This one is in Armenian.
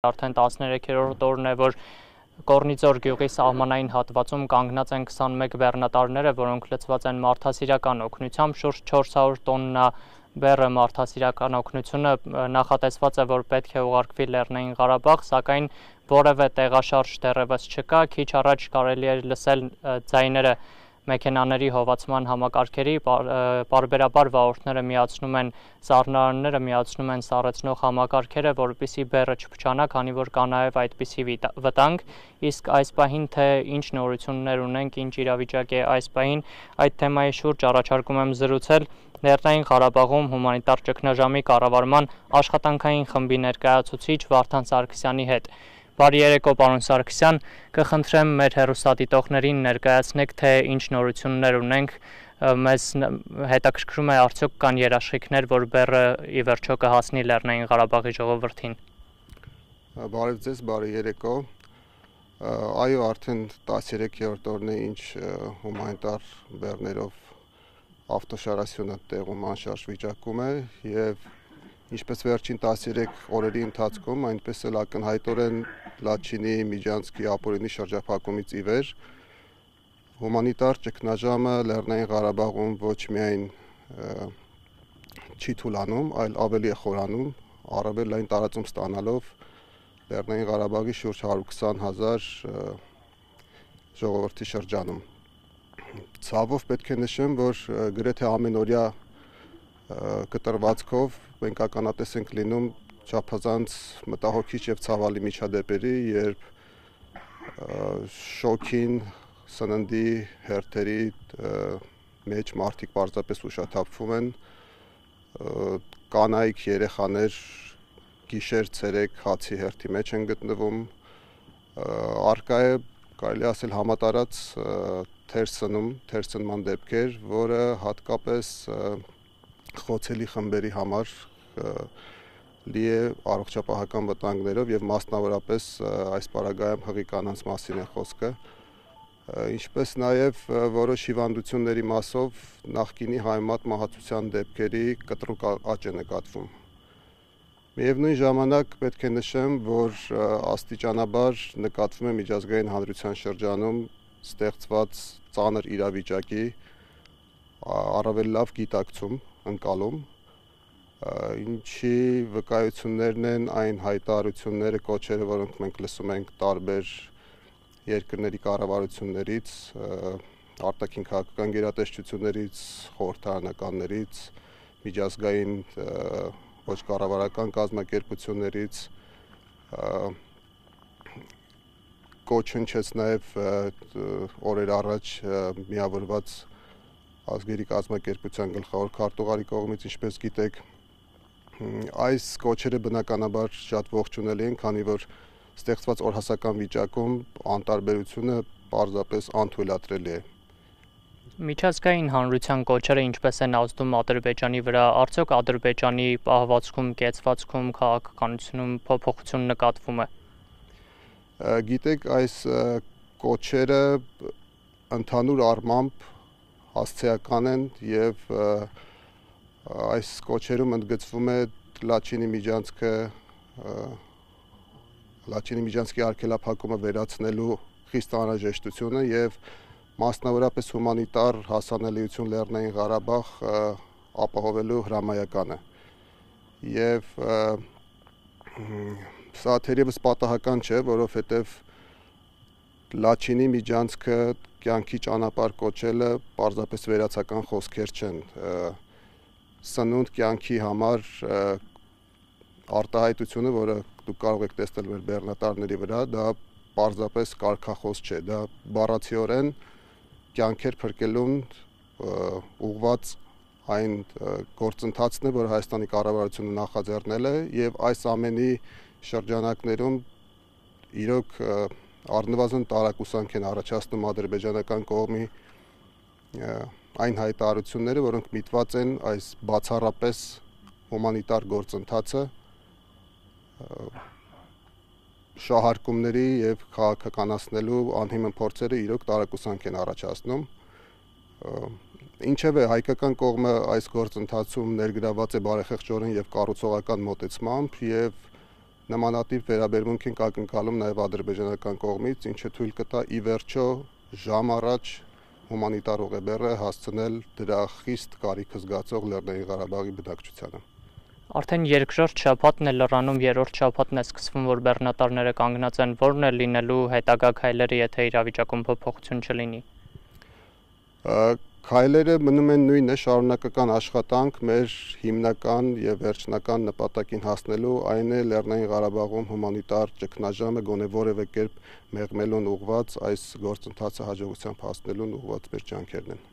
Արդեն 13-րդ օրն է, որ Կորնիձոր գյուղի սահմանային հատվածում կանգնած են 21 բեռնատարները, որոնք լցված են մարդասիրական օգնությամբ, շուրջ 400 տոննա բեռը մարդասիրական օգնությունը նախատեսված է, որ պետք է ուղարկվի Լեռնային Ղարաբաղ, սակայն որևէ տեղաշարժ դեռևս չկա, քիչ առաջ կարելի է լսել ձայները մեքենաների հովացման համակարգերի, պարբերաբար վաղորդները միացնում են սառնարանները, միացնում են սառեցնող համակարգերը, որպեսզի բեռը չփչանա, քանի որ կա նաև այդպիսի վտանգ, իսկ այս պահին թե ինչ նորություններ ունենք, ինչ իրավիճակ է այս պահին, այդ թեմայի շուրջ առաջարկում եմ զրուցել Լեռնային Ղարաբաղում հումանիտար ճգնաժամի կառավարման աշխատանքային խմբի ներկայացուցիչ Վարդան Սարգսյանի հետ։ Բարի երեկո, պարոն Սարգսյան, կխնդրեմ մեր հեռուստադիտողներին ներկայացնեք, թե ինչ նորություններ ունենք, մեզ հետաքրքրում է արդյոք կան երաշխիքներ, որ բեռը ի վերջո կհասնի Լեռնային Ղարաբաղի ժողովրդին։ Բարև ձեզ, բարի երեկո։ Այո, արդեն 13-րդ օրն է, ինչ հումանիտար բեռներով ավտոշարասյունը տեղում անշարժ վիճակում է եւ ինչպես վերջին 13 օրերի ընթացքում, այնպես էլ ակնհայտորեն Լաչինի, Միջանցքի, ապօրինի շրջափակումից ի վեր հումանիտար ճգնաժամը Լեռնային Ղարաբաղում ոչ միայն չի թուլանում, այլ ավելի է խորանում, առավել լայն տարածում ստանալով Լեռնային Ղարաբաղի շուրջ 120,000 ժողովրդի շրջանում։ Ցավով պետք է նշեմ, որ գրեթե ամենօրյա կտրվածքով մենք ականատես ենք լինում չափազանց մտահոգիչ եւ ցավալի միջադեպերի, երբ շոքին, սննդի հերթերի մեջ մարդիկ պարզապես ուշաթափվում են, կանայք, երեխաներ գիշեր, ցերեկ հացի հերթի մեջ են գտնվում, առկա է կարելի ասել համատարած թերսնման դեպքեր, որը հատկապես խոցելի խմբերի համար լի է առողջապահական վտանգներով եւ մասնավորապես այս պարագայում հղի կանանց մասին է խոսքը, ինչպես նաեւ որոշ հիվանդությունների մասով նախկինի հայմատ մահացության դեպքերի կտրուկ աճ է նկատվում։ Միևնույն ժամանակ պետք է նշեմ, որ աստիճանաբար նկատվում է միջազգային հանրության շրջանում ստեղծված ծանր իրավիճակի առավել լավ գիտակցում, ընկալում, ինչի վկայություններն են այն հայտարարությունները, կոչերը, որոնք մենք լսում ենք տարբեր երկրների կառավարություններից, արտաքին քաղաքական գերատեսչություններից, խորհրդարանականներից, միջազգային ոչ կառավարական կազմակերպություններից, կոչ հնչեց նաև օրեր առաջ միավորված ազգերի կազմակերպության գլխավոր քարտուղարի կողմից, ինչպես գիտեք, այս կոչերը բնականաբար շատ ողջունելի են, քանի որ ստեղծված օրհասական վիճակում անտարբերությունը պարզապես անթույլատրելի է։ Միջազգային հանրության կոչերը ինչպես են ազդում Ադրբեջանի վրա, արդյոք Ադրբեջանի պահվածքում, կեցվածքում, քաղաքականությունում փոփոխություն նկատվում է։ Գիտեք, այս կոչերը ընդհանուր առմամբ հասցեական են եւ այս կոչերում ընդգծվում է Լաչինի Միջանցքի արգելափակումը վերացնելու խիստ անհրաժեշտությունը եւ մասնավորապես հումանիտար հասանելիություն Լեռնային Ղարաբաղ ապահովելու հրամայականը։ Եվ սա թերևս պատահական չէ, որովհետեւ Լաչինի Միջանցքը կյանքի ճանապարհ կոչելը պարզապես վերացական խոսքեր չեն։ Սնունդ կյանքի համար արտահայտությունը, որը դուք կարող եք տեսնել մեր բեռնատարների վրա, դա պարզապես կարգախոս չէ, դա բառացիորեն կյանքեր փրկելուն ուղղված այն գործընթացն է, որ Հայաստանի կառավարությունը նախաձեռնել է եւ այս ամենի շրջանակներում իրոք առնվազն տարակուսանք են առաջացնում ադրբեջանական կողմի այն հայտարարությունները, որոնք միտված են այս բացառապես հումանիտար գործընթացը շահարկումների եւ քաղաքականացնելու անհիմն փորձերը իրոք տարակուսանք են առաջացնում։ Ինչևէ, հայկական կողմը այս գործընթացում ներգրաված է բարեխեղճորեն եւ կառուցողական մոտեցմամբ եւ նմանատիպ վերաբերմունք ենք ակնկալում նաև ադրբեջանական կողմից, ինչը թույլ կտա ի վերջո ժամ առաջ հումանիտար ուղեբեռը հասցնել դրա խիստ կարիքը զգացող Լեռնային Ղարաբաղի բնակչությանը։ Արդեն երկրորդ շաբաթն է լրանում, երրորդ շաբաթն է սկսվում, որ բեռնատարները կանգնած են, որն է լինելու հետագա քայլերը, եթե իրավիճակում փոփոխություն չլինի։ Քայլերը մնում են նույնը, շարունակական աշխատանք մեր հիմնական եւ վերջնական նպատակին հասնելու, այն է Լեռնային Ղարաբաղում հումանիտար ճգնաժամը գոնե որևէ կերպ մեղմելուն ուղղված այս գործընթացը հաջողությամբ հասնելուն ուղղված մեր ջանքերն են։